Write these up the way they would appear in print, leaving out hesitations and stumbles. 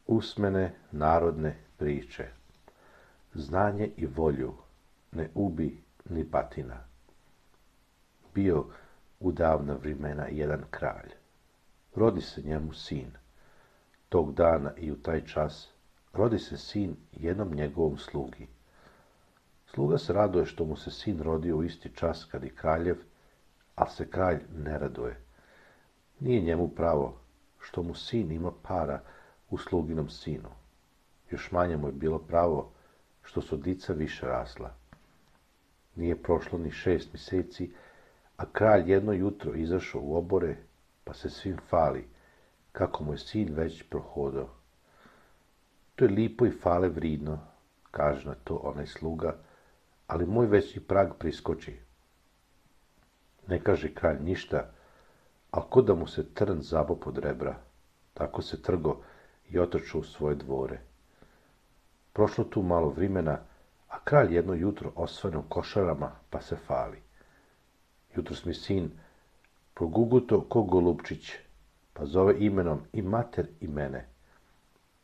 Usmene narodne priče. Znanje i volju ne ubi ni batina. Bio u davna vremena jedan kralj. Rodi se njemu sin. Tog dana i u taj čas rodi se sin jednom njegovom slugi. Sluga se raduje što mu se sin rodio u isti čas kad i kraljev, ali se kralj ne raduje. Nije njemu pravo što mu sin ima para u sluginom sinu. Još manje mu je bilo pravo što su dica više rasla. Nije prošlo ni 6 mjeseci, a kralj jedno jutro izašao u obore, pa se svim fali, kako mu je sin već prohodao. To je lipo i fale vridno, kaže na to onaj sluga, ali moj već i prag priskoči. Ne kaže kralj ništa, a ko da mu se trn zabo pod rebra, tako se trgo i otrčao u svoje dvore. Prošlo tu malo vremena, a kralj jedno jutro osvane u košarama, pa se fali. Jutros mi sin proguguto ko golupčić, pa zove imenom i mater i mene.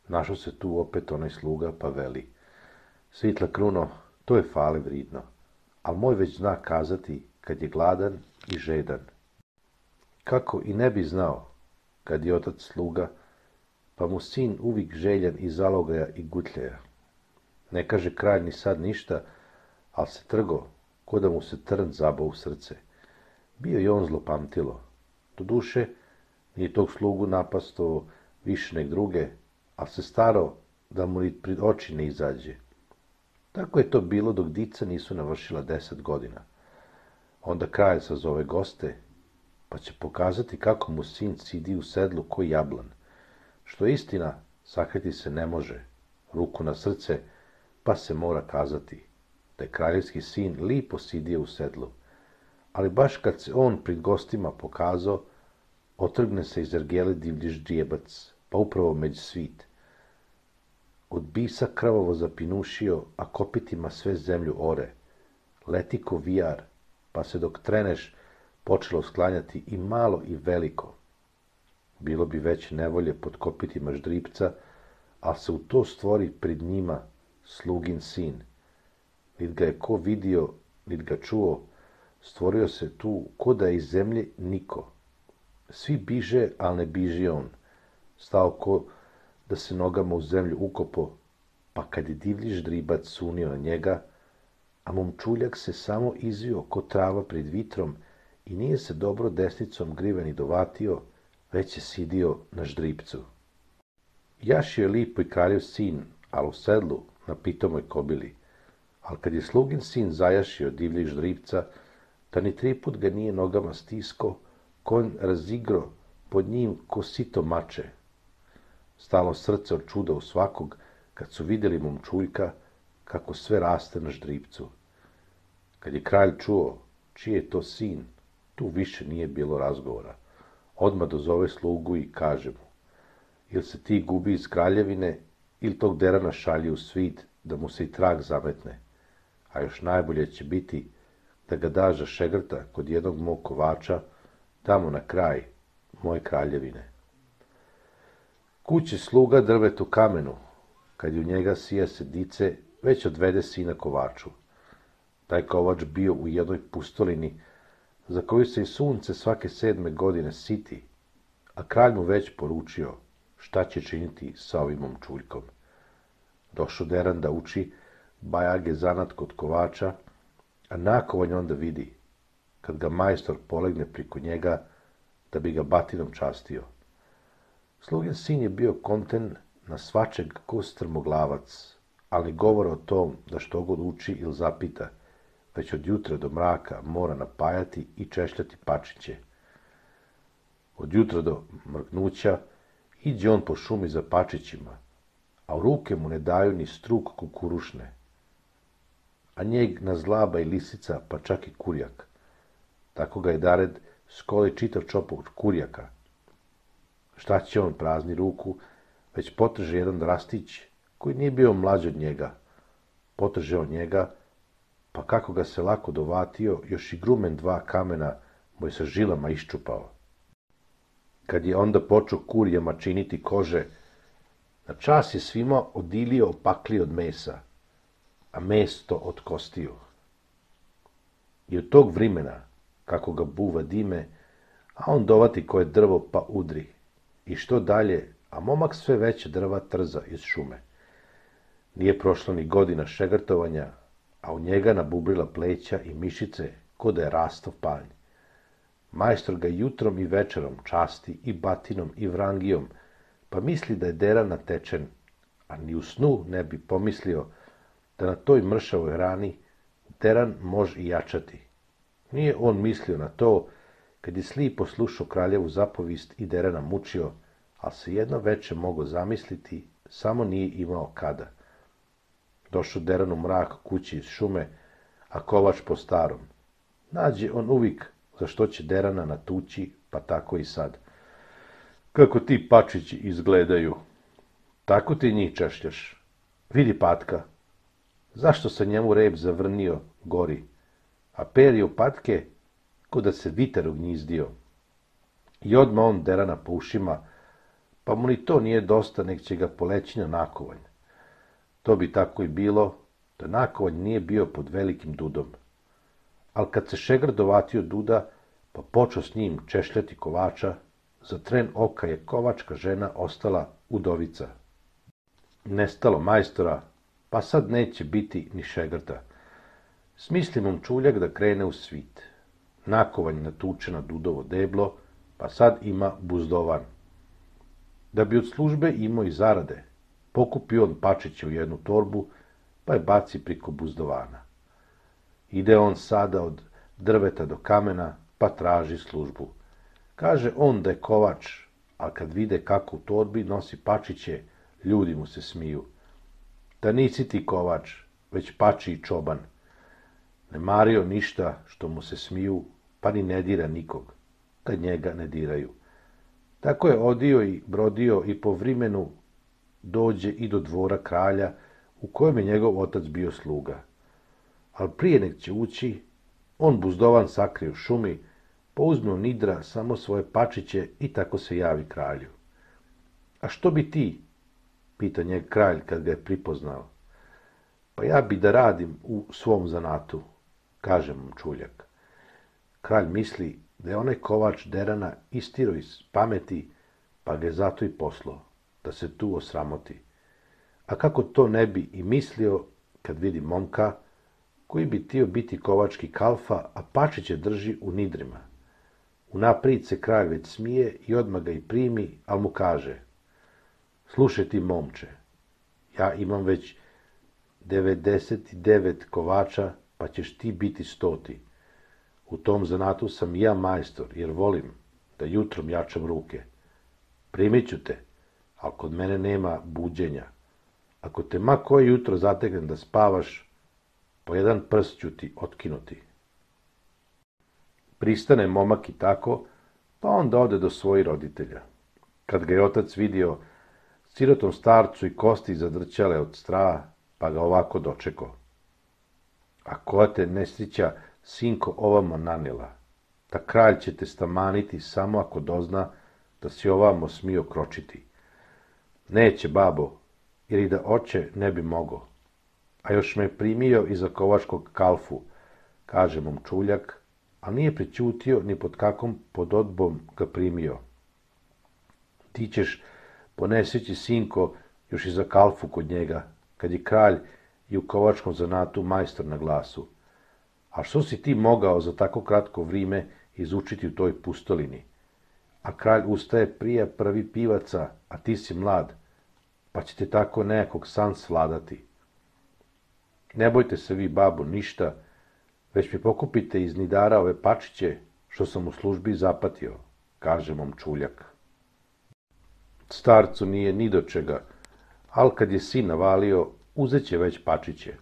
Našao se tu opet onaj sluga, pa veli: Svitla kruno, to je fale vridno, al moj već zna kazati kad je gladan i žedan. Kako i ne bi znao, kad je otac sluga, pa mu sin uvijek željan i zalogaja i gutljaja. Ne kaže kralj ni sad ništa, al se trgo, ko da mu se trn zabao u srce. Bio je on zlopamtilo. Doduše, nije tog slugu napasto više nek druge, al se starao da mu ni pred oči ne izađe. Tako je to bilo dok dica nisu navršila 10 godina. Onda kralj sazove goste, pa će pokazati kako mu sin sidi u sedlu ko jablan. Što je istina, sakriti se ne može, ruku na srce, pa se mora kazati da je kraljevski sin lipo sidio u sedlu. Ali baš kad se on pred gostima pokazao, otrgne se iz ergele divlji ždrijebac, pa upravo među svit. Od bisa krvavo zapinušio, a kopitima sve zemlju ore. Leti ko vijar, pa se dok treneš počelo sklanjati i malo i veliko. Bilo bi veće nevolje pod kopitima ždripca, a se u to stvori pred njima slugin sin. Nit ga je ko vidio, nit ga čuo, stvorio se tu ko da je iz zemlje niko. Svi biže, al ne biži on. Stao ko da se nogama u zemlju ukopo, pa kad je divlji ždribac sunio na njega, a momčuljak se samo izvio ko trava pred vitrom i nije se dobro desnicom griven i dovatio, već je sidio na ždripcu. Jašio je lipo i kraljev sin, al u sedlu na pitomoj kobili. Al kad je slugin sin zajašio divljeg ždripca, da ni 3 put ga nije nogama stisko, konj razigro pod njim ko sito mače. Stalo srce od čuda u svakog, kad su vidjeli momčuljka, kako sve raste na ždripcu. Kad je kralj čuo čiji je to sin, tu više nije bilo razgovora. Odmah dozove slugu i kaže mu: Ili se ti gubi iz kraljevine, ili tog derana šalji u svit, da mu se i trag zametne. A još najbolje će biti da ga daš za šegrta kod jednog mog kovača, tamo na kraj moje kraljevine. Kuće sluga drvetu kamenu, kad je u njega sija se dice, već odvede sina kovaču. Taj kovač bio u jednoj pustolini, za koju se i sunce svake 7. godine siti, a kralj mu već poručio šta će činiti sa ovim momčuljkom. Došao deran da uči bajage zanat kod kovača, a nakovanj onda vidi, kad ga majstor polegne priko njega, da bi ga batinom častio. Slugin sin je bio konten na svačeg ko strmoglavac, ali govora o tom da što god uči ili zapita, već od jutra do mraka mora napajati i češljati pačiće. Od jutra do mrknuća iđe on po šumi za pačićima, a u ruke mu ne daju ni struk kukurušne, a njeg nazlaba i lisica, pa čak i kurjak. Tako ga je dared skoli čitav čopog kurjaka. Šta će on, prazni ruku, već potrže jedan rastić, koji nije bio mlađi od njega. Potrže on njega, pa kako ga se lako dovatio, još i grumen 2 kamena mu je sa žilama iščupao. Kad je onda počeo kurjama činiti kože, Na čas je svima odilio opakli od mesa, a mesto od kostiju. I od tog vrimena, kako ga buva dime, a on dovati koje drvo pa udri. I što dalje, a momak sve veće drva trza iz šume. Nije prošlo ni godina šegrtovanja, a u njega nabubrila pleća i mišice, ko da je rastov panj. Majstor ga jutrom i večerom časti i batinom i vrangijom, pa misli da je deran natečen, a ni u snu ne bi pomislio da na toj mršavoj rani deran može i jačati. Nije on mislio na to, kad je slipo slušao kraljevu zapovist i derana mučio, ali se jedno veče mogao zamisliti, samo nije imao kada. Došao deran u mrak kući iz šume, a kovač po starom. Nađe on uvijek za što će derana natući, pa tako i sad. Kako ti pačići izgledaju, tako ti njih češljaš. Vidi patka, zašto se njemu rep zavrnio gori, a perje u patke, ko da se viter ugnjizdio. I odmah on derana po ušima, pa mu ni to nije dosta, nek će ga poleći na nakovanj. To bi tako i bilo, da nakovanj nije bio pod velikim dudom. Ali kad se šegr dovatio duda, pa počeo s njim češljati kovača, za tren oka je kovačka žena ostala udovica. Nestalo majstora, pa sad neće biti ni šegrta. Smisli momčuljak da krene u svit. Nakovanj natuče na dudovo deblo, pa sad ima buzdovan. Da bi od službe imao i zarade, pokupi on pačiće u jednu torbu, pa je baci priko buzdovana. Ide on sada od drveta do kamena, pa traži službu. Kaže on da je kovač, a kad vide kako u torbi nosi pačiće, ljudi mu se smiju. Da nisi ti kovač, već pači i čoban. Ne mario ništa što mu se smiju, pa ni ne dira nikog, kad njega ne diraju. Tako je odio i brodio i po vrimenu dođe i do dvora kralja, u kojem je njegov otac bio sluga. Ali prije nek će ući, on buzdovan sakrije u šumi, pa uzme u nidra samo svoje pačiće i tako se javi kralju. A što bi ti? Pita njeg kralj kad ga je pripoznao. Pa ja bi da radim u svom zanatu, kaže momčuljak. Kralj misli da je onaj kovač derana istiro iz pameti, pa ga je zato i poslao, da se tu osramoti. A kako to ne bi i mislio kad vidi momka, koji bi htio biti kovački kalfa, a pačiće drži u nidrima. Unaprijed se kralj već smije i odmah ga i primi, ali mu kaže: slušaj ti momče, ja imam već 99 kovača, pa ćeš ti biti 100. U tom zanatu sam i ja majstor, jer volim da jutrom jačam ruke. Primit ću te, ali kod mene nema buđenja. Ako te ma koje jutro zategnem da spavaš, po jedan prst ću ti otkinuti. Pristane momak i tako, pa onda ode do svojih roditelja. Kad ga je otac vidio, sirotom starcu i kosti zadrćale od straha, pa ga ovako dočeko. A koja te nesreća, sinko, ovamo nanijela? Ta kralj će te stamaniti samo ako dozna da si ovamo smio kročiti. Neće, babo, jer i da oče ne bi mogao. A još me primio i za kovačkog kalfu, kaže momčuljak, a nije prećutio ni pod kakvom pododbom ga primio. Ti ćeš, poneseći sinko, još i za kalfu kod njega, kad je kralj i u kovačkom zanatu majstor na glasu. A što si ti mogao za tako kratko vrijeme izučiti u toj pustolini? A kralj ustaje prije prvi pivaca, a ti si mlad, pa će te tako nekog san svladati. Ne bojte se vi, babo, ništa, već mi pokupite iz nidara ove pačiće, što sam u službi zapatio, kaže momčuljak. Starcu nije ni do čega, ali kad je sin navalio, uzet će već pačiće.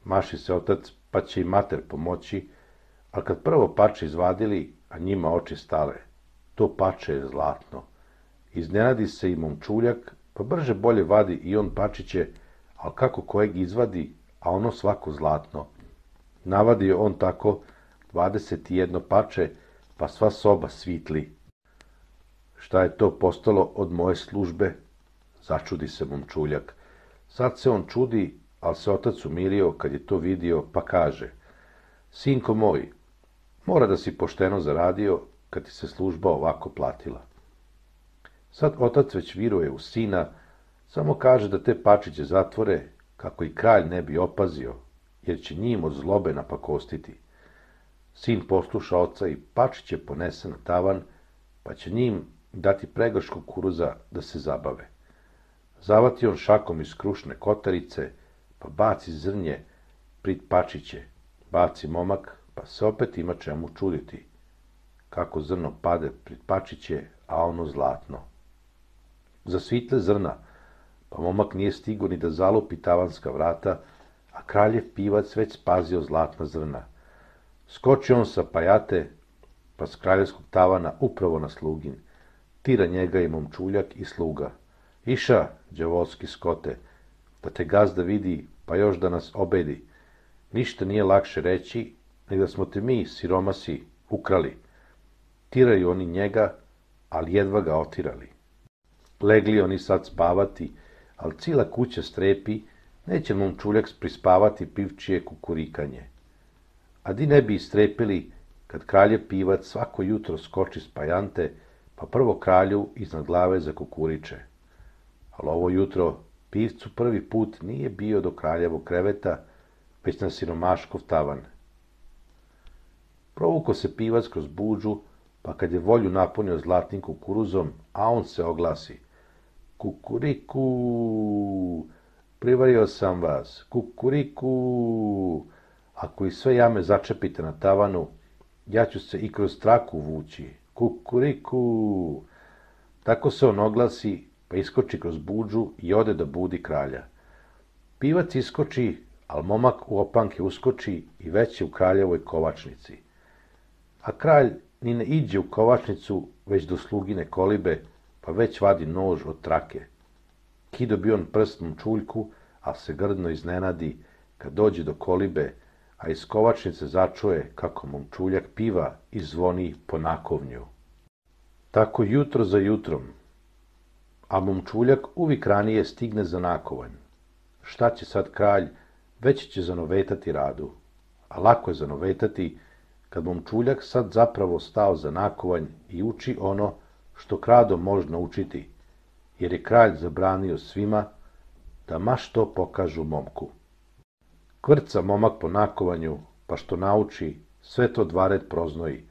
Maši se otac, pa će i mater pomoći, ali kad prvo pače izvadili, a njima oči stale, to pače je zlatno. Iznenadi se i momčuljak, pa brže bolje vadi i on pačiće, ali kako kojeg izvadi, a ono svako zlatno. Navadio on tako 21 pače, pa sva soba svitli. Šta je to postalo od moje službe? začudi se momčuljak. Sad se on čudi, ali se otac umirio kad je to vidio, pa kaže: Sinko moj, mora da si pošteno zaradio kad ti se služba ovako platila. Sad otac već viruje u sina, samo kaže da te pačiće zatvore, kako i kralj ne bi opazio, jer će njim od zlobe napakostiti. Sin posluša oca i pačiće ponese na tavan, pa će njim dati pregršt kukuruza da se zabave. Zavati on šakom iz krušne kotarice, pa baci zrnje prid pačiće, baci momak, pa se opet ima čemu čuditi. Kako zrno pade prid pačiće, a ono zlatno. Zasvitle zrna, pa momak nije stigo ni da zalupi tavanska vrata, a kraljev pivac već spazio zlatna zrna. Skoči on sa pajate, pa s kraljevskog tavana upravo na slugin. Tira njega i momčuljak i sluga. Iša, đavolski skote, da te gazda vidi, pa još da nas obedi. Ništa nije lakše reći, nego da smo te mi, siromasi, ukrali. Tiraju oni njega, ali jedva ga otirali. Legli oni sad spavati, ali cila kuća strepi, neće momčuljak prispavati pivčije kukurikanje. A di ne bi istrepili, kad kraljev pivac svako jutro skoči s pajante, pa prvo kralju iznad glave zakukuriče. Ali ovo jutro pivcu prvi put nije bio do kraljevog kreveta, već na siromaškov tavan. Provuko se pivac kroz buđu, pa kad je volju napunio zlatnim kukuruzom, a on se oglasi: Kukuriku, privario sam vas, kukuriku, ako i sve jame začepite na tavanu, ja ću se i kroz traku vući, kukuriku. Tako se on oglasi, pa iskoči kroz buđu i ode da budi kralja. Pivac iskoči, al momak u opanke uskoči i već je u kraljevoj kovačnici. A kralj ni ne iđe u kovačnicu, već do slugine kolibe, pa već vadi nož od trake. Kido bi on prst momčuljku, a se grdno iznenadi kad dođe do kolibe, a iz kovačnice začuje kako momčuljak piva i zvoni po nakovnju. Tako jutro za jutrom, a momčuljak uvijek ranije stigne za nakovanj. Šta će sad kralj, već će zanovetati radu, a lako je zanovetati kad momčuljak sad zapravo stao za nakovanj i uči ono što krado možno učiti, jer je kralj zabranio svima da ma što pokažu momku. Kvrca momak po nakovanju, pa što nauči, sve to dvared proznoji,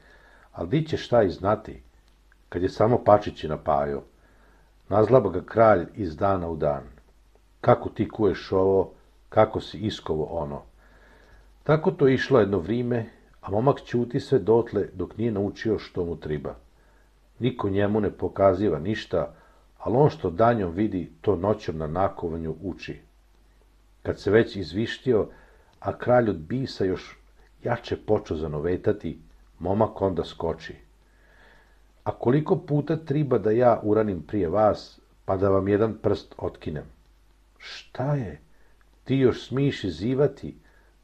ali di će šta i znati, kad je samo pačići napajao. Nazlaba ga kralj iz dana u dan. Kako ti kuješ ovo, kako si iskovo ono. Tako to išlo jedno vrime, a momak ćuti sve dotle dok nije naučio što mu triba. Niko njemu ne pokaziva ništa, ali on što danjom vidi, to noćom na nakovanju uči. Kad se već izvištio, a kralj od bisa još jače počeo zanovetati, momak onda skoči. A koliko puta triba da ja uranim prije vas, pa da vam jedan prst otkinem? Šta je? Ti još smiš izivati,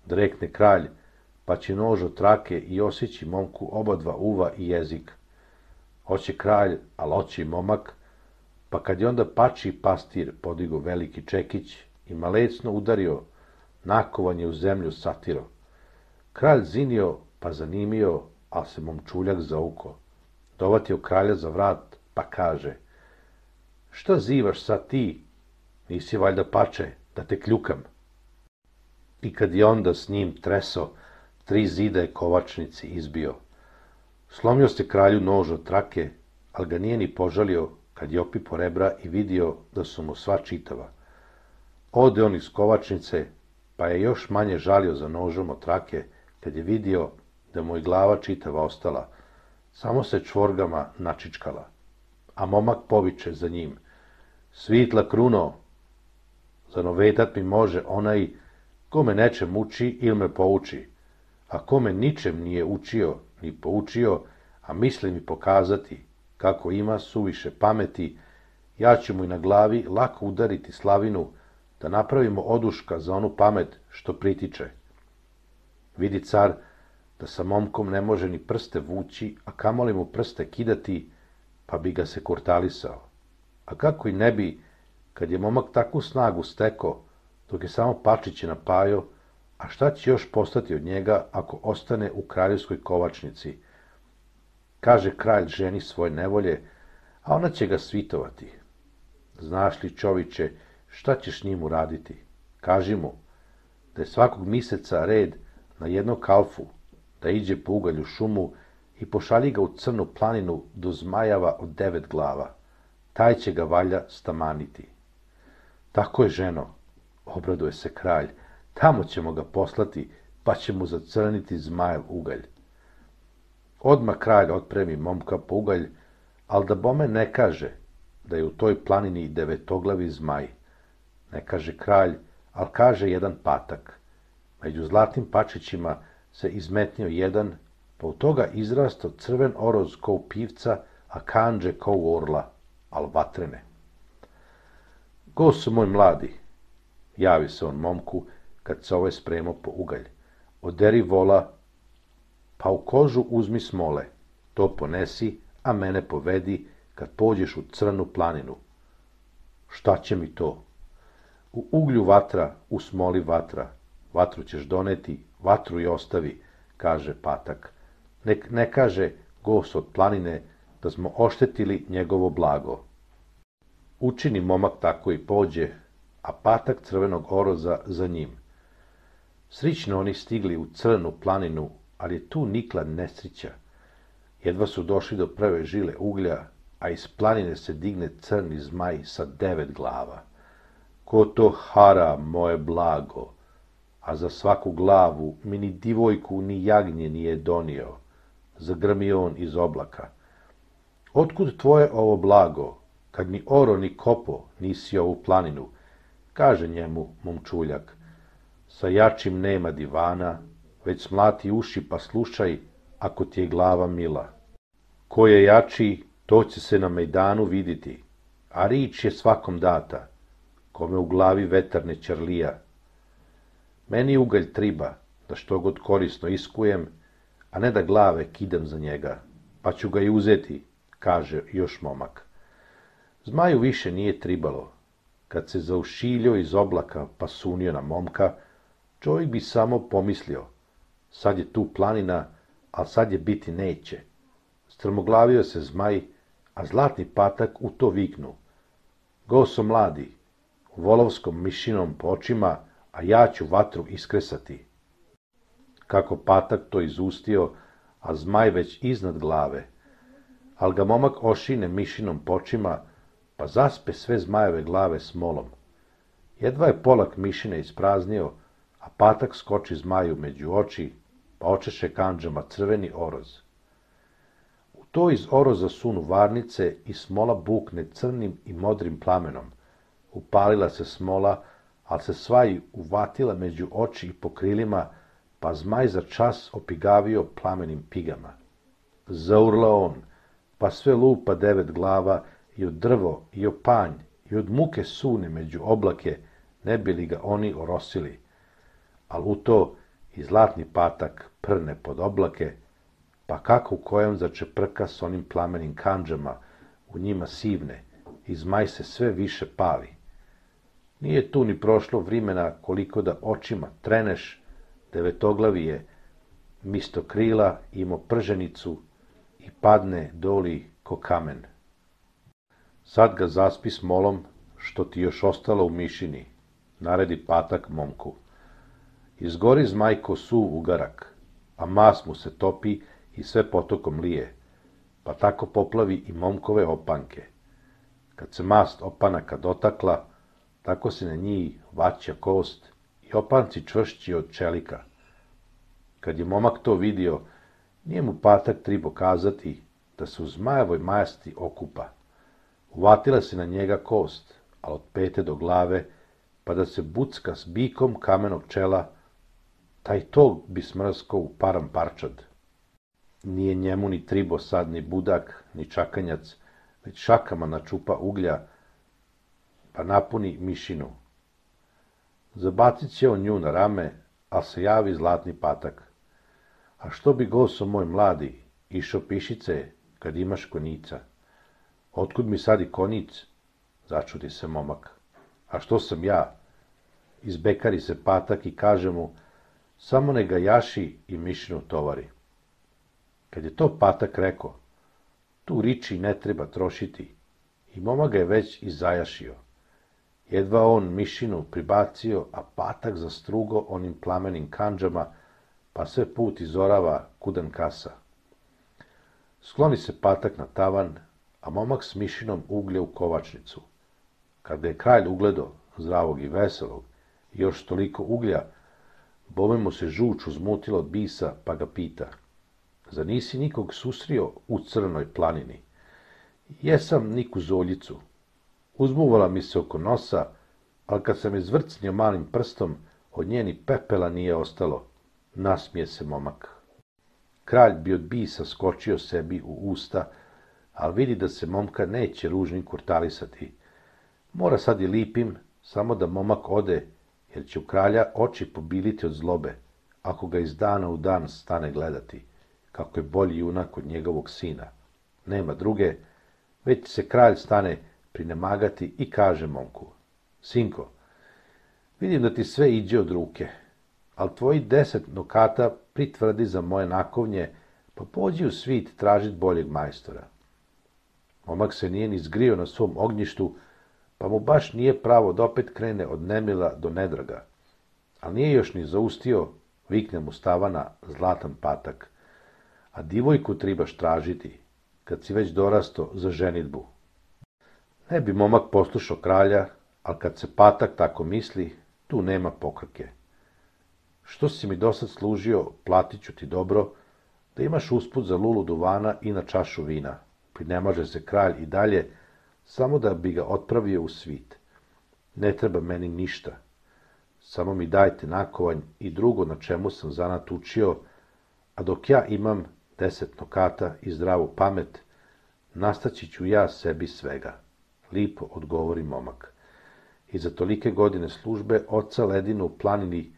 da rekne kralj, pa će nož od trake i osjeći momku obadva uva i jezik. Hoće kralj, ali hoće i momak, pa kad je onda pači pastir podigo veliki čekić i malecno udario, nakovanje u zemlju satiro. Kralj zinio, pa zanimio, al se momčuljak zauko. Dovatio kralja za vrat, pa kaže: Šta zivaš sad ti? Nisi valjda pače, da te kljukam. I kad je onda s njim treso, 3 zida je kovačnici izbio. Slomio se kralju nož od trake, al ga nije ni požalio kad je opipo rebra i vidio da su mu sva čitava. Ode on iz kovačnice, pa je još manje žalio za nožom od trake, kad je vidio da mu je glava čitava ostala, samo se čvorgama načičkala. A momak poviče za njim: Svitla kruno, zanovetat mi može onaj ko me nečem uči ili me pouči, a ko me ničem nije učio ni poučio, a misli mi pokazati kako ima suviše pameti, ja ću mu i na glavi lako udariti slavinu, da napravimo oduška za onu pamet što pritiče. Vidi car da sa momkom ne može ni prste vući, a kamoli mu prste kidati, pa bi ga se kurtalisao. A kako i ne bi, Kad je momak takvu snagu stekao, dok je samo pačiće napajao, a šta će još postati od njega ako ostane u kraljevskoj kovačnici? Kaže kralj ženi svoje nevolje, a ona će ga svitovati. Znaš li, čoviče, šta ćeš njim uraditi? Kaži mu da je svakog mjeseca red na jednog kalfu, da iđe po ugalj u šumu i pošalji ga u crnu planinu do zmajava od 9 glava. Taj će ga valja stamaniti. Tako je, ženo, obraduje se kralj, tamo ćemo ga poslati, pa će mu zacrniti zmajev ugalj. Odmah kralj otpremi momka po ugalj, ali da bome ne kaže da je u toj planini devetoglavi zmaj. Ne kaže kralj, ali kaže jedan patak. Među zlatnim pačićima se izmetnio jedan, pa u toga izrastao crven oroz ko u pivca, a kanđe ko u orla, al vatrene. Goso moj mladi, javi se on momku, kad se ovaj spremao po ugalj. Oderi vola, pa u kožu uzmi smole, to ponesi, a mene povedi, kad pođeš u crnu planinu. Šta će mi to? U uglju vatra, u smoli vatra. Vatru ćeš doneti, vatru i ostavi, kaže patak. Nek ne kaže gost od planine da smo oštetili njegovo blago. Učini momak tako i pođe, a patak crvenog oroza za njim. Srićno oni stigli u crnu planinu, ali je tu nikla nesrića. Jedva su došli do prve žile uglja, a iz planine se digne crni zmaj sa 9 glava. Ko to hara moje blago, a za svaku glavu mi ni divojku ni jagnje nije donio, zagrmi on iz oblaka. Otkud tvoje ovo blago, kad ni oro ni kopo nisi ovu planinu, kaže njemu momčuljak. Sa jačim nema divana, već smlati uši pa slušaj, ako ti je glava mila. Ko je jači, to će se na mejdanu vidjeti, a rič je svakom data, kome u glavi vetar ne ćerlija. Meni ugalj triba, da što god korisno iskujem, a ne da glave kidam za njega, pa ću ga i uzeti, kaže još momak. Zmaju više nije tribalo. Kad se zaušiljio iz oblaka pa sunio na momka, čovjek bi samo pomislio, sad je tu planina, a sad je biti neće. Strmoglavio se zmaj, a zlatni patak u to viknu. Goso mladi, volovskom mišinom po očima, a ja ću vatru iskresati. Kako patak to izustio, a zmaj već iznad glave, al ga momak ošine mišinom po očima, pa zaspe sve zmajeve glave smolom. Jedva je polak mišine ispraznio, a patak skoči zmaju među oči, pa očeše kandžama crveni oroz. U to iz oroza sunu varnice i smola bukne crnim i modrim plamenom. Upalila se smola, ali se svaj uvatila među oči i po krilima, pa zmaj za čas opigavio plamenim pigama. Zaurla on, pa sve lupa 9 glava i od drvo i o panj i od muke sune među oblake, ne bi li ga oni orosili. Al u to i zlatni patak prne pod oblake, pa kako u kojem začeprka s onim plamenim kandžama, u njima sivne, i zmaj se sve više pali. Nije tu ni prošlo vrimena koliko da očima treneš, devetoglavi je misto krila imao prženicu i padne doli ko kamen. Sad ga zaspi smolom, što ti još ostalo u mišini, naredi patak momku. Izgori zmaj ko suv ugarak, a mas mu se topi i sve potokom lije, pa tako poplavi i momkove opanke. Kad se mast opanaka dotakla, tako se na njih vaća kost i opanci čvršći od čelika. Kad je momak to vidio, nije mu patak tribo kazati da se u zmajevoj masti okupa. Uvatila se na njega kost, a od pete do glave, pa da se bucka s bikom kamenog čela, taj tog bi smrsko u param parčad. Nije njemu ni tribo sad ni budak, ni čakanjac, već šakama načupa uglja, pa napuni mišinu. Zabacit će on nju na rame, a se javi zlatni patak. A što bi goso moj mladi, išo pišice, kad imaš konjica? Otkud mi sad i konjic? Začudi se momak. A što sam ja? Izbekari se Patak i kaže mu, samo ne ga jaši i mišinu tovari. Kad je to Patak rekao, tu riči ne treba trošiti, i momak ga je već i zajašio. Jedva on mišinu pribacio, a Patak zastrugo onim plamenim kandžama, pa sve put izorava kudan kasa. Skloni se Patak na tavan, a momak s mišinom uglje u kovačnicu. Kad je kralj ugledo, zdravog i veselog, i još toliko uglja, bome mu se žuč uzmutila od bisa, pa ga pita, zar nisi nikog susrio u Crnoj planini? Jesam niku zoljicu. Uzmuvala mi se oko nosa, ali kad sam je zvrcnio malim prstom, od njeni pepela nije ostalo. Nasmije se momak. Kralj bi od bisa skočio sebi u usta, ali vidi da se momka neće ružnim kurtalisati. Mora sad i lipim, samo da momak ode, jer će u kralja oči pobiliti od zlobe, ako ga iz dana u dan stane gledati, kako je bolji junak od njegovog sina. Nema druge, već se kralj stane prinemagati i kaže momku, sinko, vidim da ti sve iđe od ruke, ali tvoji 10 nokata pritvrdi za moje nakovnje, pa pođi u svit tražit boljeg majstora. Momak se nije ni zgrio na svom ognjištu, pa mu baš nije pravo da opet krene od nemila do nedraga. Ali nije još ni zaustio, vikne mu stavana zlatan Patak. A divojku tribaš tražiti, kad si već dorasto za ženitbu. Ne bi momak poslušao kralja, ali kad se Patak tako misli, tu nema pokrke. Što si mi dosad služio, platit ću ti dobro, da imaš usput za lulu duvana i na čašu vina. Prinemaže se kralj i dalje, samo da bi ga otpravio u svit. Ne treba meni ništa. Samo mi dajte nakovanj i drugo na čemu sam zanat učio, a dok ja imam 10 nokata i zdravu pamet, nastaći ću ja sebi svega. Lipo odgovori momak. I za tolike godine službe oca ledinu u planini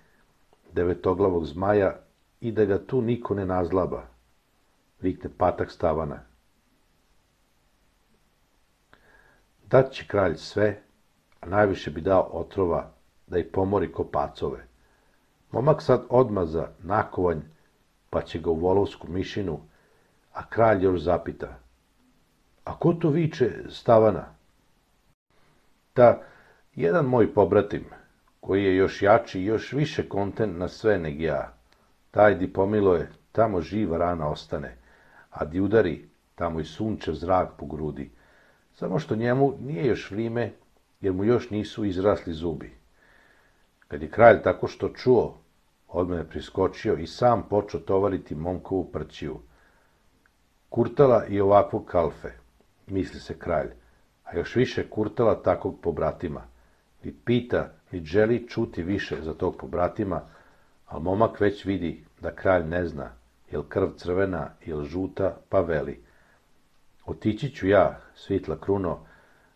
devetoglavog zmaja i da ga tu niko ne nazlaba, vikne Patak stavana. Dat će kralj sve, a najviše bi dao otrova da ih pomori ko pacove. Momak sad odmaza nakovanj, pa će ga u volovsku mišinu, a kralj još zapita. A ko to viče stavana? Da, jedan moj pobratim, koji je još jači i još više konten na sve neg ja. Taj di pomiloje, tamo živa rana ostane, a di udari, tamo i sunčev zrak po grudi. Samo što njemu nije još vrime, jer mu još nisu izrasli zubi. Kad je kralj tako što čuo, odmah je priskočio i sam počeo tovariti momkovu prćiju. Kurtala i ovakvog kalfe, misli se kralj, a još više kurtala takvog pobratima. Ni pita, ni želi čuti više za tog pobratima, ali momak već vidi da kralj ne zna, jel krv crvena, jel žuta, pa veli. Otići ću ja, svitla kruno,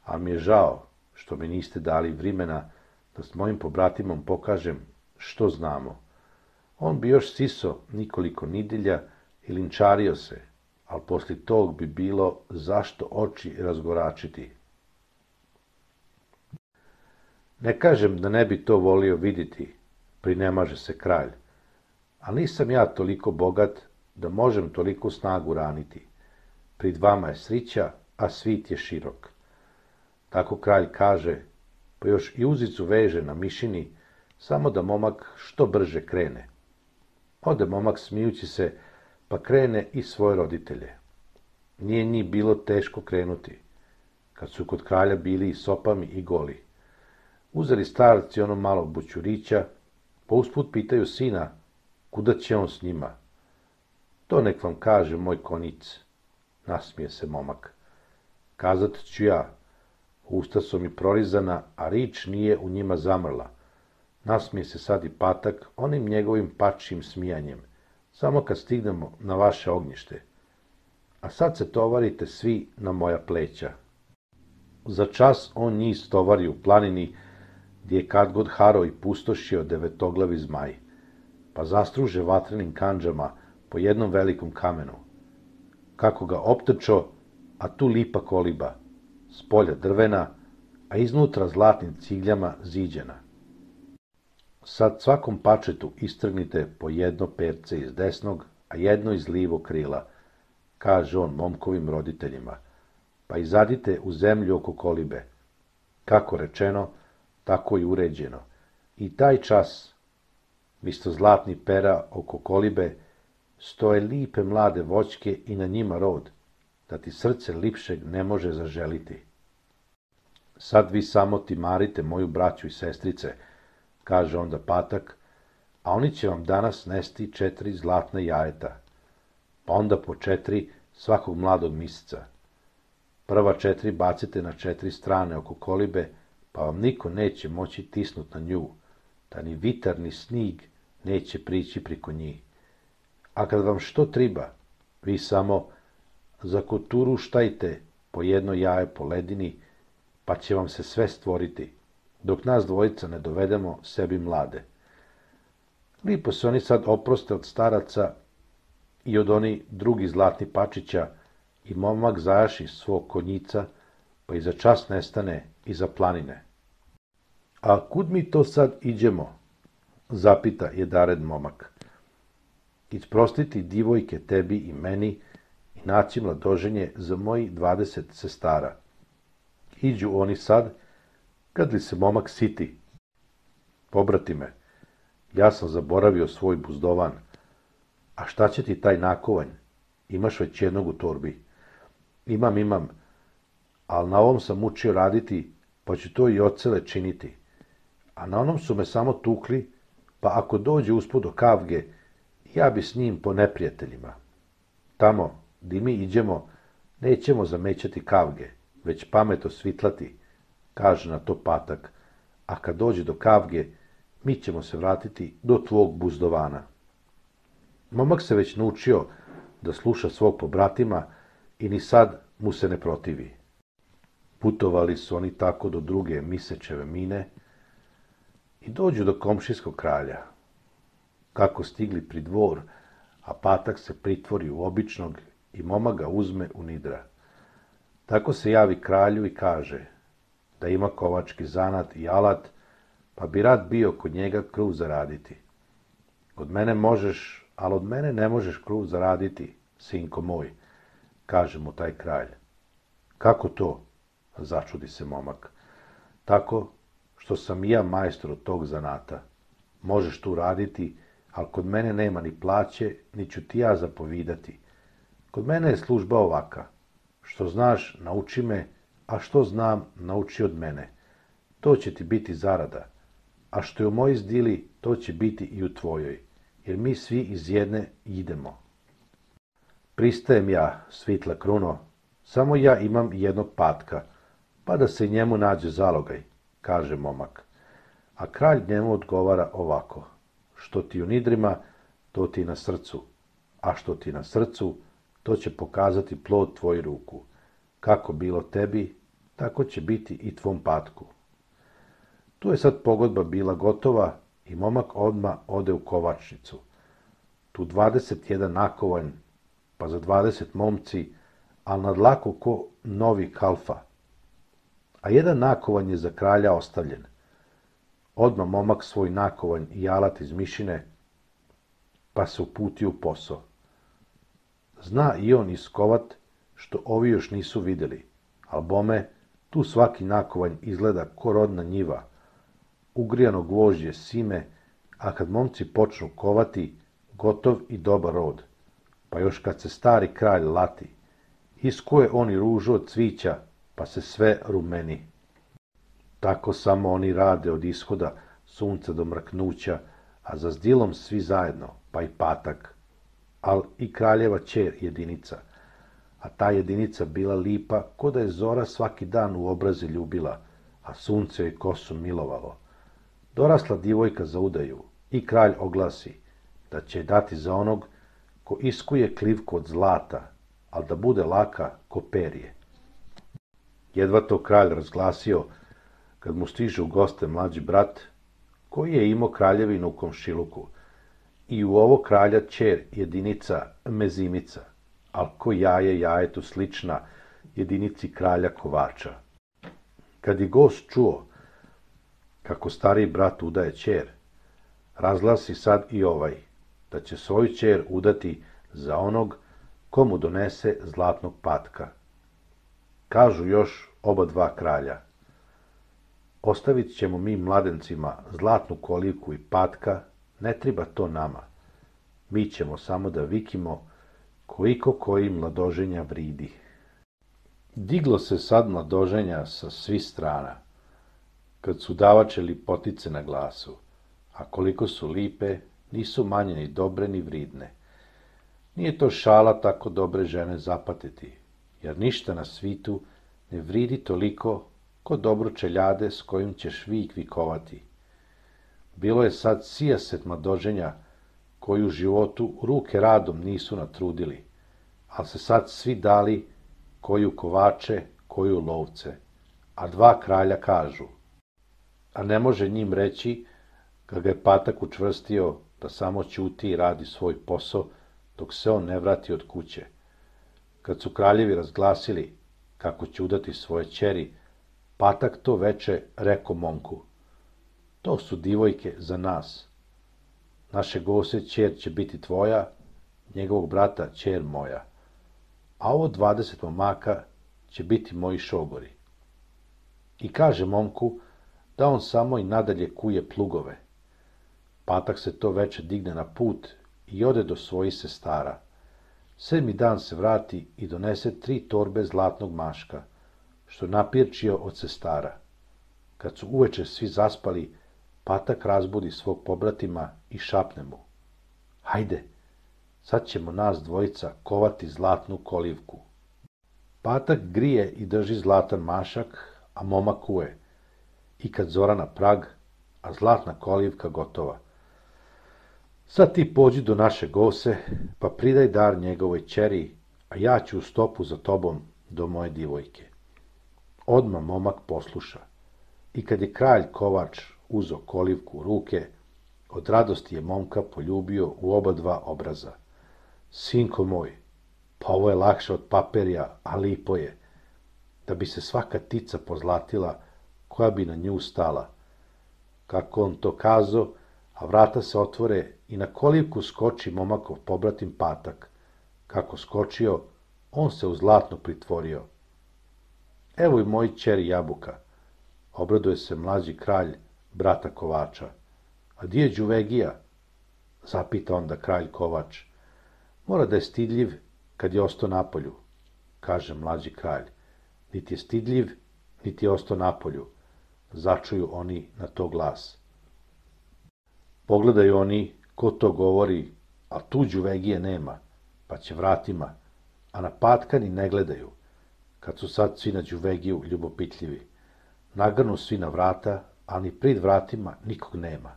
a mi je žao što mi niste dali vrimena da s mojim pobratimom pokažem što znamo. On bi još siso nikoliko nidelja i linčario se, ali poslije tog bi bilo zašto oči razgoračiti. Ne kažem da ne bi to volio vidjeti, prinemaže se kralj, ali nisam ja toliko bogat da možem toliko snagu raniti. Prid vama je srića, a svit je širok. Tako kralj kaže, pa još i uzicu veže na mišini, samo da momak što brže krene. Ode momak smijući se, pa krene i svoje roditelje. Nije njih bilo teško krenuti, kad su kod kralja bili i sopami i goli. Uzeli starci ono malo bućurića, pa usput pitaju sina, kuda će on s njima. To nek vam kaže moj konic, nasmije se momak. Kazat ću ja, usta su mi prorizana, a rič nije u njima zamrla. Nasmije se sad i Patak onim njegovim pačjim smijanjem, samo kad stignemo na vaše ognjište. A sad se tovarite svi na moja pleća. Za čas on njih stovari u planini, gdje je kad god haro i pustošio devetoglavi zmaj, pa zastruže vatrenim kandžama po jednom velikom kamenu. Kako ga optrčo, a tu lipa koliba, s polja drvena, a iznutra zlatnim cigljama ziđena. Sad svakom pačetu istrgnite po jedno perce iz desnog, a jedno iz lijevog krila, kaže on momkovim roditeljima, pa izadite u zemlju oko kolibe. Kako rečeno, tako i uređeno. I taj čas, misto zlatni pera oko kolibe, stoje lipe mlade voćke i na njima rod, da ti srce lipšeg ne može zaželiti. Sad vi samo timarite moju braću i sestrice, kaže onda patak, a oni će vam danas nesti 4 zlatna jajeta, pa onda po 4 svakog mladog misica. Prva 4 bacite na 4 strane oko kolibe, pa vam niko neće moći tisnut na nju, da ni vitar ni snig neće prići priko njih. A kad vam što triba, vi samo zakoturuštajte po jedno jaje po ledini, pa će vam se sve stvoriti, dok nas dvojica ne dovedemo sebi mlade. Lipo se oni sad oproste od staraca i od oni drugi zlatni pačića, i momak zajaši svog konjica, pa i za čas nestane iza planine. A kud mi to sad iđemo? Zapita jedared momak. Isprostiti divojke tebi i meni i naći mladoženje za moji 20 sestara. Iđu oni sad, kad li se momak siti. Pobratime, ja sam zaboravio svoj buzdovan. A šta će ti taj nakovanj? Imaš već jednog u torbi. Imam, ali na ovom sam učio raditi, pa ću to i ocele činiti. A na onom su me samo tukli, pa ako dođe usput do kavge, ja bi s njim po neprijateljima. Tamo, di mi iđemo, nećemo zamećati kavge, već pamet osvitlati, kaže na to patak, a kad dođe do kavge, mi ćemo se vratiti do tvog buzdovana. Momak se već naučio da sluša svog pobratima i ni sad mu se ne protivi. Putovali su oni tako do druge Misečeve mine i dođu do komšijskog kralja. Kako stigli pri dvor, a patak se pritvori u običnog i momak ga uzme u nidra. Tako se javi kralju i kaže da ima kovački zanat i alat, pa bi rad bio kod njega kruh zaraditi. Od mene možeš, ali od mene ne možeš kruh zaraditi, sinko moj, kaže mu taj kralj. Kako to? Začudi se momak. Tako što sam i ja majstor od tog zanata. Možeš tu raditi, ali kod mene nema ni plaće, ni ću ti ja zapovidati. Kod mene je služba ovaka. Što znaš, nauči me, a što znam, nauči od mene. To će ti biti zarada. A što je u mojoj zdili, to će biti i u tvojoj, jer mi svi iz jedne idemo. Pristajem ja, svitla kruno, samo ja imam jednog patka, pa da se njemu nađe zalogaj, kaže momak. A kralj njemu odgovara ovako, što ti u nidrima, to ti na srcu, a što ti na srcu, to će pokazati plod tvoj ruku. Kako bilo tebi, tako će biti i tvom patku. Tu je sad pogodba bila gotova i momak odmah ode u kovačnicu. Tu 21 nakovanj, pa za 20 momci, ali na dlaku ko novi kalfa. A jedan nakovanj je za kralja ostavljen. Odmah momak svoj nakovanj i alat iz mišine, pa se uputio u posao. Zna i on iskovat, što ovi još nisu vidjeli, al bome, tu svaki nakovanj izgleda ko rodna njiva, ugrijano gvožđe sime, a kad momci počnu kovati, gotov i dobar rod. Pa još kad se stari kralj lati, iskuje oni ružu od cvića, pa se sve rumeni. Tako samo oni rade od ishoda sunca do mrknuća, a za zdilom svi zajedno, pa i patak, al i kraljeva ćer jedinica, a ta jedinica bila lipa, ko da je zora svaki dan u obraze ljubila, a sunce joj kosu milovalo. Dorasla divojka za udaju i kralj oglasi da će dati za onog ko iskuje klivku od zlata, al da bude laka ko perje. Jedva to kralj razglasio, kad mu stiže u goste mlađi brat, koji je imao kraljevinu u komšiluku, i u ovo kralja ćer jedinica mezimica, al ko jaje jajetu slična jedinici kralja kovača. kad je gost čuo kako stariji brat udaje ćer, razglasi sad i ovaj, da će svoju ćer udati za onog komu donese zlatnog patka. Kažu još oba dva kralja, ostavit ćemo mi mladencima zlatnu kolivku i patka, ne treba to nama. Mi ćemo samo da vikimo koliko koji mladoženja vridi. Diglo se sad mladoženja sa svih strana, kad su davače lipotice na glasu, a koliko su lipe, nisu manje ni dobre ni vridne. Nije to šala tako dobre žene zapatiti, jer ništa na svitu ne vridi toliko ko dobro čeljade s kojim ćeš vik vikovati. Bilo je sad sijaset mladoženja koji u životu ruke radom nisu natrudili, ali se sad svi dali koju kovače, koju lovce, a dva kralja kažu, a ne može njim reći, kad ga je patak učvrstio da samo ćuti i radi svoj posao, dok se on ne vrati od kuće. Kad su kraljevi razglasili kako će udati svoje ćeri, patak to veče reko momku, to su divojke za nas. Naše gose ćer će biti tvoja, njegovog brata ćer moja, a ovo 20 momaka će biti moji šogori. I kaže momku da on samo i nadalje kuje plugove. Patak se to veče digne na put i ode do svojih sestara. 7. dan se vrati i donese 3 torbe zlatnog maška, što napirčio od sestara. Kad su uveče svi zaspali, patak razbudi svog pobratima i šapne mu, hajde, sad ćemo nas dvojica kovati zlatnu kolivku. Patak grije i drži zlatan mašak, a momak kuje. I kad zora na prag, a zlatna kolivka gotova. Sad ti pođi do naše gose, pa pridaj dar njegovoj ćeri, a ja ću u stopu za tobom do moje divojke. Odmah momak posluša. I kad je kralj kovač uzo kolivku u ruke, od radosti je momka poljubio u oba dva obraza. Sinko moj, pa ovo je lakše od paperja, a lipo je, da bi se svaka tica pozlatila, koja bi na nju stala. Kako on to kazo, a vrata se otvore i na kolivku skoči momakov pobratim patak. Kako skočio, on se u zlatno pritvorio. Evo i moj ćeri jabuka, obraduje se mlađi kralj brata kovača. A di je Đuvegija? Zapita onda kralj kovač. Mora da je stidljiv kad je ostao napolju, kaže mlađi kralj. Niti je stidljiv, niti je ostao napolju, začuju oni na to glas. Pogledaju oni ko to govori, a tu Đuvegije nema, pa će vratima, a na patka ni ne gledaju, kad su sad svi na Đuvegiju ljubopitljivi. Nagrnu svi na vrata, ali ni prid vratima nikog nema.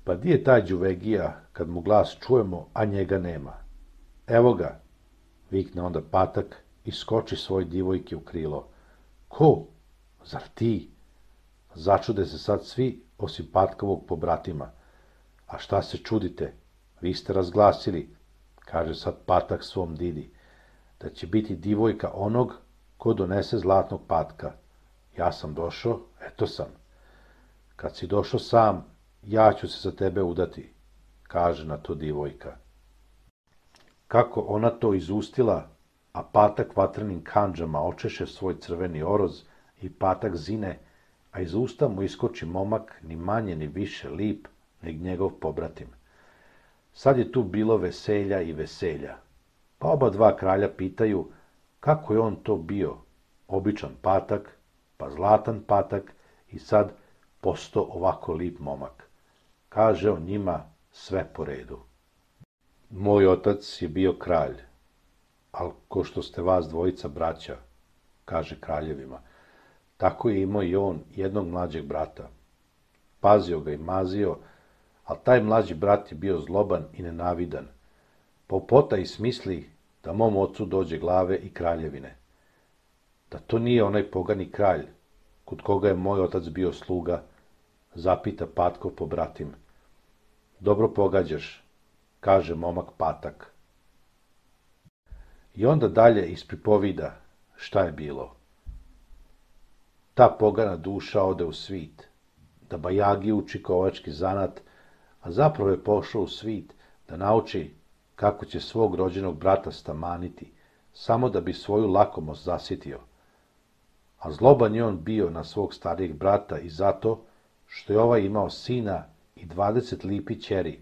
Pa di je taj Đuvegija, kad mu glas čujemo, a njega nema? Evo ga, vikne onda patak i skoči svoj divojke u krilo. Ko? Zar ti? Začude se sad svi, osim patkovog pobratima. A šta se čudite? Vi ste razglasili, kaže sad patak svom didi, da će biti divojka onog ko donese zlatnog patka. Ja sam došao, eto sam. Kad si došao sam, ja ću se za tebe udati, kaže na to divojka. Kako ona to izustila, a patak vatrenim kandžama očeše svoj crveni oroz i patak zine, a iz usta mu iskoči momak ni manje ni više lip nego njegov pobratim. Sad je tu bilo veselja i veselja, pa oba dva kralja pitaju kako je on to bio, običan patak, pa zlatan patak i sad posto ovako lip momak. Kaže on njima sve po redu. Moj otac je bio kralj, al ko što ste vas dvojica braća, kaže kraljevima, tako je imao i on jednog mlađeg brata. Pazio ga i mazio, ali taj mlađi brat je bio zloban i nenavidan. Popota i smisli da mom ocu dođe glave i kraljevine. Da to nije onaj pogani kralj, kod koga je moj otac bio sluga, zapita Patkov pobratim. Dobro pogađaš, kaže momak Patak. I onda dalje ispripovida šta je bilo. Ta pogana duša ode u svit, da bajagi uči kovački zanat, a zapravo je pošao u svit da nauči kako će svog rođenog brata stamaniti, samo da bi svoju lakomost zasitio. A zloban je on bio na svog starijeg brata i zato što je ovaj imao sina i 20 lipi ćeri,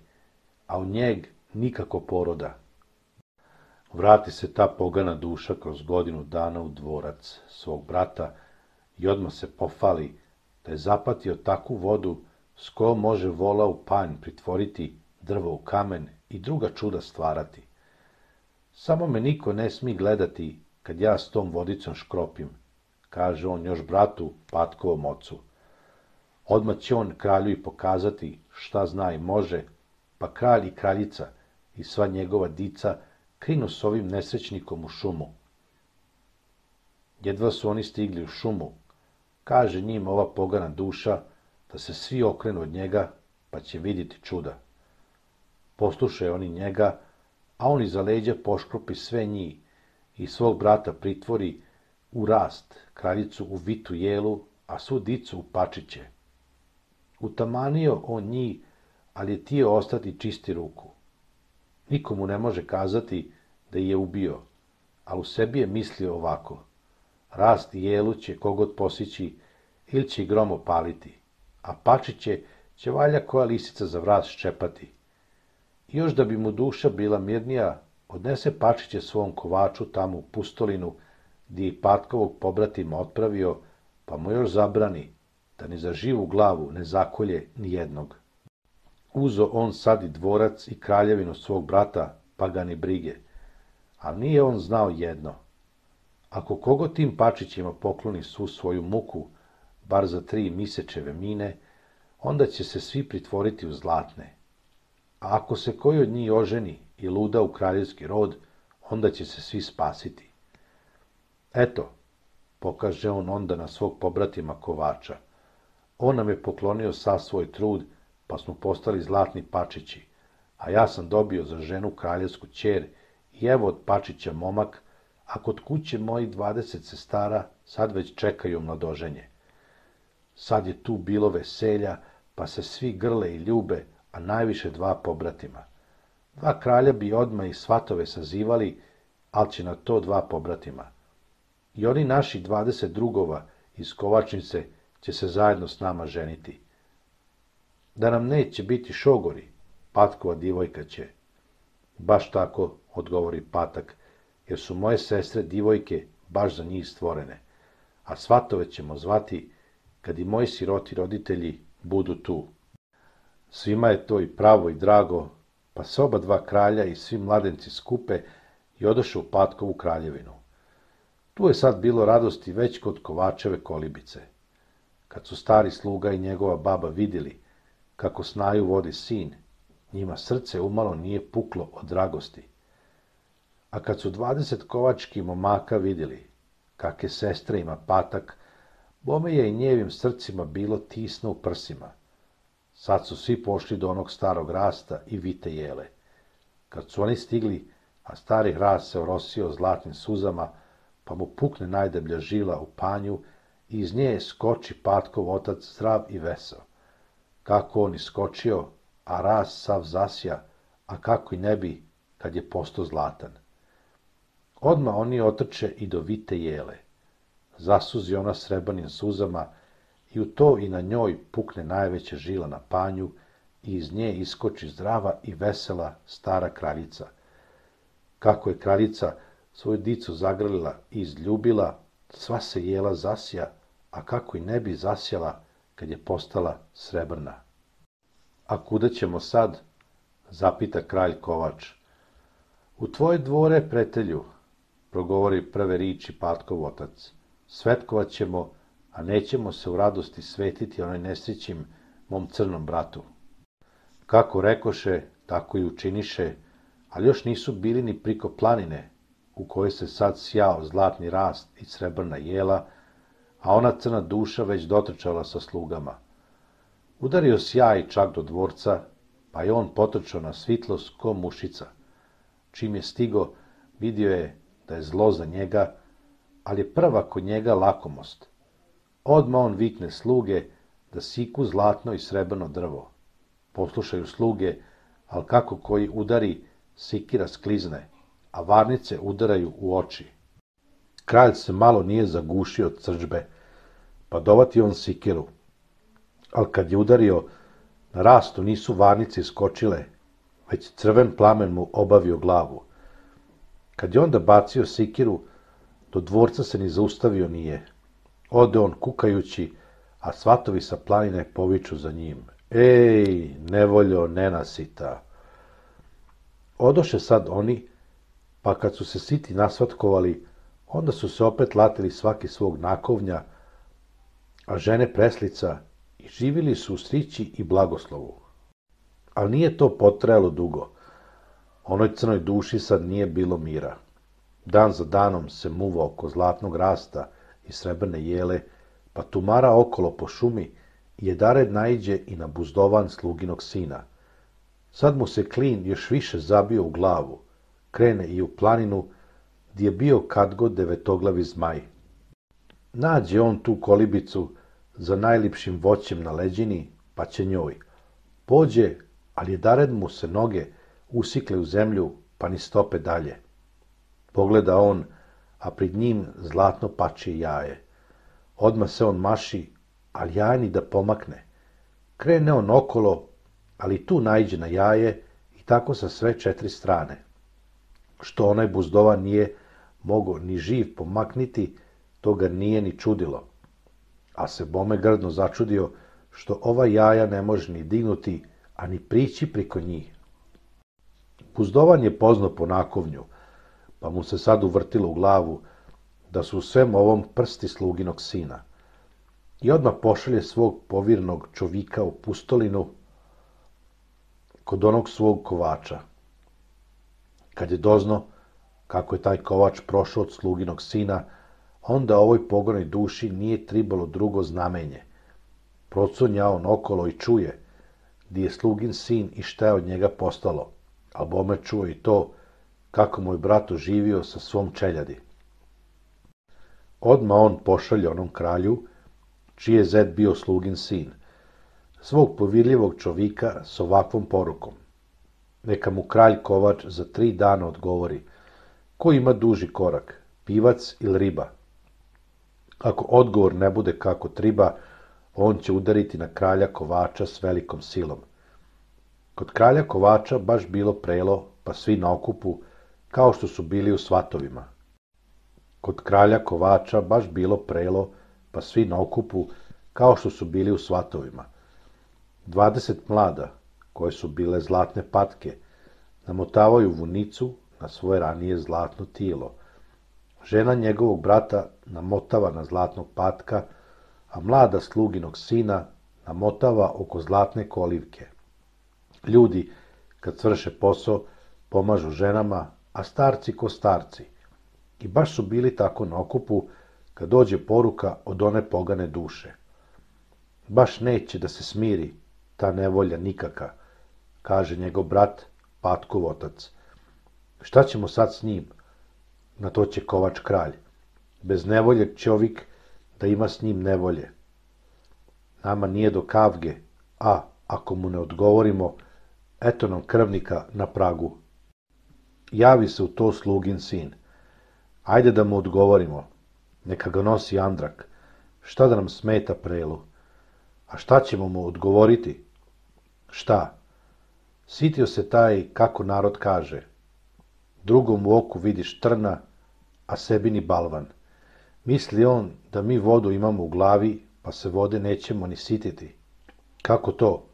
a u njeg nikako poroda. Vrati se ta pogana duša kroz godinu dana u dvorac svog brata i odmah se pofali da je zapatio takvu vodu s kojom može vola u panj pritvoriti, drvo u kamen i druga čuda stvarati. Samo me niko ne smi gledati kad ja s tom vodicom škropim, kaže on još bratu Patkovom ocu. Odmah će on kralju i pokazati šta zna i može, pa kralj i kraljica i sva njegova dica krinu s ovim nesrećnikom u šumu. Jedva su oni stigli u šumu, kaže njim ova pogana duša da se svi okrenu od njega, pa će vidjeti čuda. Poslušaju oni njega, a on iza leđa poškropi sve njih i svog brata pritvori u rast, kraljicu u vitu jelu, a svu dicu u pačiće. Utamanio on njih, ali je tio ostati čisti ruku. Nikomu ne može kazati da je ubio, a u sebi je mislio ovako. Rast i jelu će kogod posići ili će grom opaliti, a pačiće će valja koja lisica za vrat ščepati. I još da bi mu duša bila mirnija, odnese pačiće svom kovaču tamo u pustolinu, gdje je Patkovog pobratima otpravio, pa mu još zabrani da ni za živu glavu ne zakolje ni jednog. Uzo on sad i dvorac i kraljevinu svog brata, pa ga ni brige, ali nije on znao jedno. Ako kogo tim pačićima pokloni svu svoju muku, bar za 3 misečeve mine, onda će se svi pritvoriti u zlatne. A ako se koji od njih oženi i luda u kraljevski rod, onda će se svi spasiti. Eto, pokaže on onda na svog pobratima kovača. On nam je poklonio sav svoj trud, pa smo postali zlatni pačići, a ja sam dobio za ženu kraljevsku ćer i evo od pačića momak, a kod kuće mojih 20 sestara sad već čekaju mladoženje. Sad je tu bilo veselja, pa se svi grle i ljube, a najviše 2 pobratima. 2 kralja bi odmah i svatove sazivali, ali će na to 2 pobratima. I oni naši 20 drugova iz kovačnice će se zajedno s nama ženiti. Da nam neće biti šogori, Patkova divojka će. Baš tako, odgovori Patak, jer su moje sestre divojke baš za njih stvorene, a svatove ćemo zvati kad i moji siroti roditelji budu tu. Svima je to i pravo i drago, pa se oba 2 kralja i svi mladenci skupe i odoše u Patkovu kraljevinu. Tu je sad bilo radosti već kod Kovačeve kolibice. Kad su stari sluga i njegova baba vidjeli kako snaju vodi sin, njima srce umalo nije puklo od dragosti. A kad su 20 kovačkih momaka vidjeli kakve sestre ima Patak, bome je i njevim srcima bilo tisno u prsima. Sad su svi pošli do onog starog rasta i vite jele. Kad su oni stigli, a stari hrast se orosio zlatnim suzama, pa mu pukne najdeblja žila u panju i iz nje skoči Patkov otac zdrav i vesel. Kako on iskočio, a rast sav zasja, a kako i ne bi, kad je postao zlatan. Odmah oni otrče i do vite jele. Zasuzi ona srebrnim suzama i u to i na njoj pukne najveća žila na panju i iz nje iskoči zdrava i vesela stara kraljica. Kako je kraljica svoju dicu zagrlila i izljubila, sva se jela zasja, a kako i ne bi zasjala kad je postala srebrna. A kuda ćemo sad? Zapita kralj Kovač. U tvoje dvore, pretelju, progovori prve riči Patkov otac. Svetkovat ćemo, a nećemo se u radosti svetiti onaj nesrećim mom crnom bratu. Kako rekoše, tako i učiniše, ali još nisu bili ni priko planine, u kojoj se sad sjao zlatni rast i srebrna jela, a ona crna duša već dotrčala sa slugama. Udario sjaj čak do dvorca, pa je on potrčao na svitlost ko mušica. Čim je stigo, vidio je da je zlo za njega, ali je prva kod njega lakomost. Odmah on vikne sluge da siku zlatno i srebrno drvo. Poslušaju sluge, ali kako koji udari, sikira sklizne, a varnice udaraju u oči. Kralj se malo nije zagušio od srdžbe, pa dovati on sikiru. Ali kad je udario, na rastu nisu varnice iskočile, već crven plamen mu obavio glavu. Kad je onda bacio sikiru, do dvorca se ni zaustavio nije. Ode on kukajući, a svatovi sa planine poviču za njim. Ej, nevoljo nenasita! Odoše sad oni, pa kad su se siti nasvatkovali, onda su se opet latili svaki svog nakovnja, a žene preslica, i živili su u srići i blagoslovu. Ali nije to potrajalo dugo. Onoj crnoj duši sad nije bilo mira. Dan za danom se muva oko zlatnog rasta i srebrne jele, pa tumara okolo po šumi i jedared naiđe i na buzdovan sluginog sina. Sad mu se klin još više zabio u glavu, krene i u planinu, gdje je bio kadgod devetoglavi zmaj. Nađe on tu kolibicu za najlipšim voćem na leđini, pa će njoj. Pođe, ali jedared mu se noge usikle u zemlju, pa ni stope dalje. Pogleda on, a pred njim zlatno pačije jaje. Odmah se on maši, ali jaje ni da pomakne. Krene on okolo, ali tu naiđe na jaje i tako sa sve 4 strane. Što onaj buzdovan nije mogao ni živ pomakniti, to ga nije ni čudilo. A se bome grdno začudio što ova jaja ne može ni dignuti, a ni prići priko njih. Buzdovan je poznao po nakovnju, pa mu se sad uvrtilo u glavu da su u svem ovom prsti sluginog sina. I odmah pošalje svog povirnog čovika u pustolinu kod onog svog kovača. Kad je dozno kako je taj kovač prošao od sluginog sina, onda ovoj pogonoj duši nije tribalo drugo znamenje. Procunja on okolo i čuje gdje je slugin sin i šta je od njega postalo, a bome čuo i to kako moj brat oživio sa svom čeljadi. Odmah on pošalje onom kralju, čiji je zet bio slugin sin, svog povirljivog čovika s ovakvom porukom. Neka mu kralj kovač za 3 dana odgovori, ko ima duži korak, pivac ili riba. Ako odgovor ne bude kako triba, on će udariti na kralja kovača s velikom silom. Kod kralja kovača baš bilo prelo, pa svi na okupu, kao što su bili u svatovima. Kod kralja kovača baš bilo prelo, pa svi na okupu, kao što su bili u svatovima. 20 mlada, koje su bile zlatne patke, namotavaju vunicu na svoje ranije zlatno tijelo. Žena njegovog brata namotava na zlatnog patka, a mlada sluginog sina namotava oko zlatne kolivke. Ljudi, kad svrše posao, pomažu ženama, a starci ko starci. I baš su bili tako na okupu, kad dođe poruka od one pogane duše. Baš neće da se smiri ta nevolja nikaka, kaže njegov brat, patkov otac. Šta ćemo sad s njim? Na to će kovač kralj. Bez nevolje čovjek da ima s njim nevolje. Nama nije do kavge, a ako mu ne odgovorimo, eto nam krvnika na pragu. Javi se u to slugin sin. Ajde da mu odgovorimo. Neka ga nosi Andrak. Šta da nam smeta prelu? A šta ćemo mu odgovoriti? Šta? Sitio se taj, kako narod kaže. Drugom u oku vidiš trna, a sebi ni balvan. Misli on da mi vodu imamo u glavi, pa se vode nećemo ni sititi. Kako to?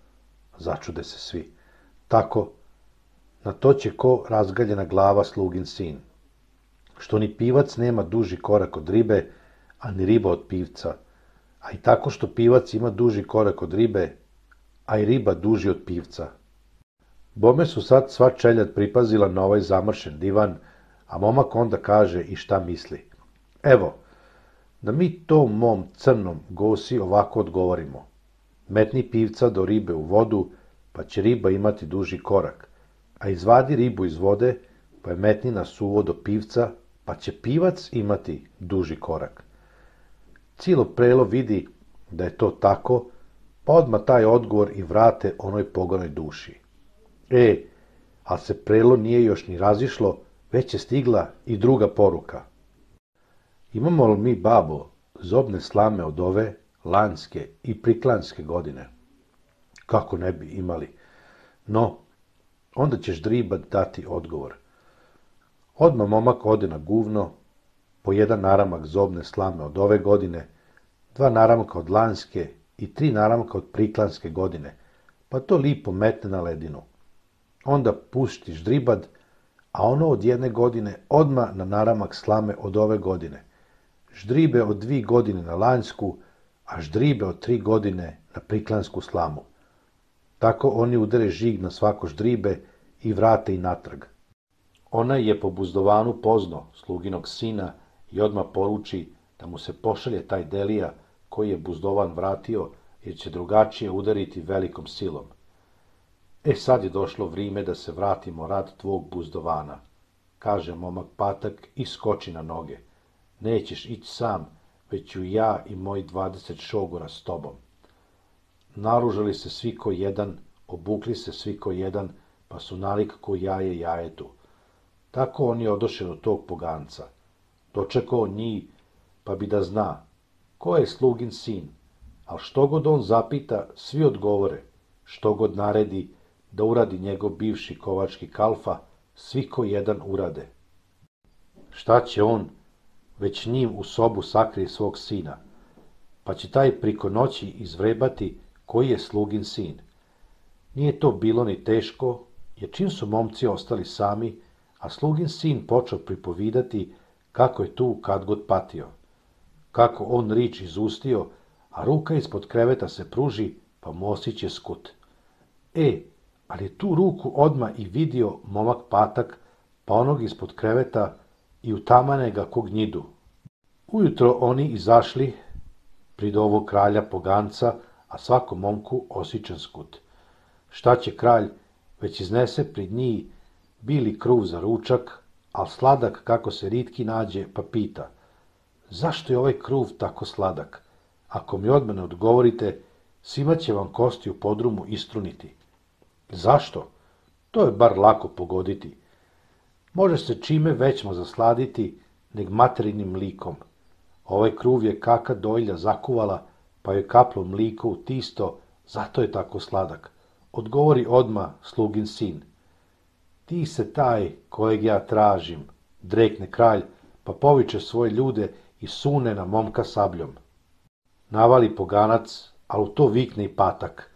Začude se svi. Tako, na to će ko razgaljena glava slugin sin. Što ni pivac nema duži korak od ribe, a ni riba od pivca, a i tako što pivac ima duži korak od ribe, a i riba duži od pivca. Bome su sad sva čeljad pripazila na ovaj zamršen divan, a momak onda kaže i šta misli. Evo, da mi tom mom crnom gosi ovako odgovorimo. Metni pivca do ribe u vodu, pa će riba imati duži korak, a izvadi ribu iz vode, pa je metni na suvo do pivca, pa će pivac imati duži korak. Cijelo prelo vidi da je to tako, pa odmah taj odgovor i vrate onoj pogonoj duši. Ali se prelo nije još ni razišlo, već je stigla i druga poruka. Imamo li mi, babo, zobne slame od ove, lanjske i priklanjske godine? Kako ne bi imali? No, onda će Ždribat dati odgovor. Odmah momak ode na guvno, po jedan naramak zobne slame od ove godine, 2 naramka od lanjske i 3 naramka od priklanjske godine, pa to lipo metne na ledinu. Onda pušti Ždribad, a ono od 1 godine odmah na naramak slame od ove godine. Ždribe od 2 godine na lanjsku, a Ždribe od 3 godine na priklanjsku slamu. Tako oni udare žig na svako Ždribe i vrate i natrag. Onaj je po buzdovanu pozno sluginog sina i odmah poruči da mu se pošalje taj Delija koji je buzdovan vratio, jer će drugačije udariti velikom silom. Sad je došlo vrijeme da se vratimo rad tvog buzdovana, kaže momak Patak i skoči na noge. Nećeš ići sam, već ću ja i moji 20 šogora s tobom. Naružali se svi ko jedan, obukli se svi ko jedan, pa su nalik ko jaje jajetu. Tako oni odoše do tog poganca. Dočekao njih, pa bi da zna, ko je slugin sin, ali što god on zapita, svi odgovore, što god naredi, da uradi njegov bivši kovački kalfa, svi ko jedan urade. Šta će on, već njim u sobu sakrije svog sina, pa će taj priko noći izvrebati koji je slugin sin. Nije to bilo ni teško, jer čim su momci ostali sami, a slugin sin počeo pripovidati kako je tu kad god patio, kako on rič izustio, a ruka ispod kreveta se pruži, pa mu osiće skut. Ali je tu ruku odmah i vidio momak Patak, pa onog ispod kreveta i utamane ga ko gnjidu. Ujutro oni izašli prid ovog kralja poganca, a svakom momku osičan skut. Šta će kralj, već iznese prid njih bili kruv za ručak, al sladak kako se ritki nađe, pa pita, zašto je ovaj kruv tako sladak? Ako mi odmah ne odgovorite, svima će vam kosti u podrumu istruniti. Zašto? To je bar lako pogoditi. Može se čime većmo zasladiti, neg materinim mlikom. Ovaj kruv je kaka dojlja zakuvala, pa je kaplo mliko u tisto, zato je tako sladak. Odgovori odmah slugin sin. Ti se taj kojeg ja tražim, drekne kralj, pa poviče svoje ljude i sune na momka sabljom. Navali poganac, a u to vikne i Patak.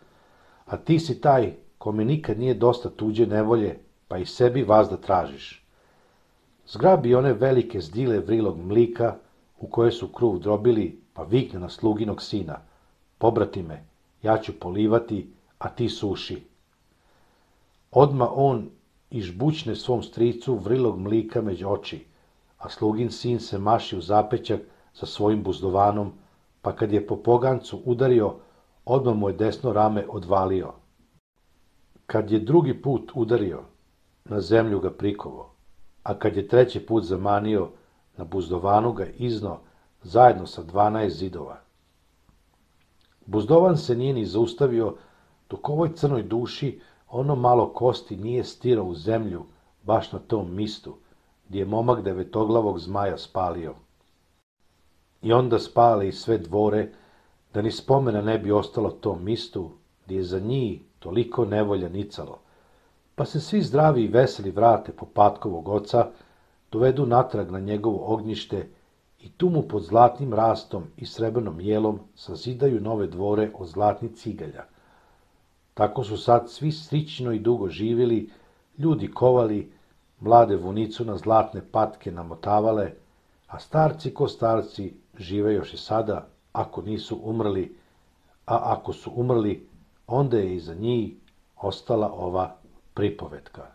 A ti si taj kome nikad nije dosta tuđe nevolje, pa i sebi vazda tražiš. Zgrabi one velike zdile vrilog mlika, u koje su kruv drobili, pa vikne na sluginog sina. Pobrati me, ja ću polivati, a ti suši. Odma on ižbućne svom stricu vrilog mlika među oči, a slugin sin se maši u zapećak sa svojim buzdovanom, pa kad je po pogancu udario, odmah mu je desno rame odvalio. Kad je drugi put udario, na zemlju ga prikovo, a kad je 3. put zamanio, na buzdovanu ga izno zajedno sa 12 zidova. Buzdovan se nije ni zaustavio, dok ovoj crnoj duši ono malo kosti nije stirao u zemlju, baš na tom mistu, gdje je momak devetoglavog zmaja spalio. I onda spale i sve dvore, da ni spomena ne bi ostalo tom mistu, gdje je za njih toliko nevolja nicalo, pa se svi zdravi i veseli vrate po Patkovog oca, dovedu natrag na njegovo ognjište i tu mu pod zlatnim rastom i srebrnom jelom sazidaju nove dvore od zlatnih cigalja. Tako su sad svi srićno i dugo živjeli, ljudi kovali, mlade vunicu na zlatne patke namotavale, a starci ko starci žive još i sada, ako nisu umrli, a ako su umrli, onda je iza njih ostala ova pripovetka.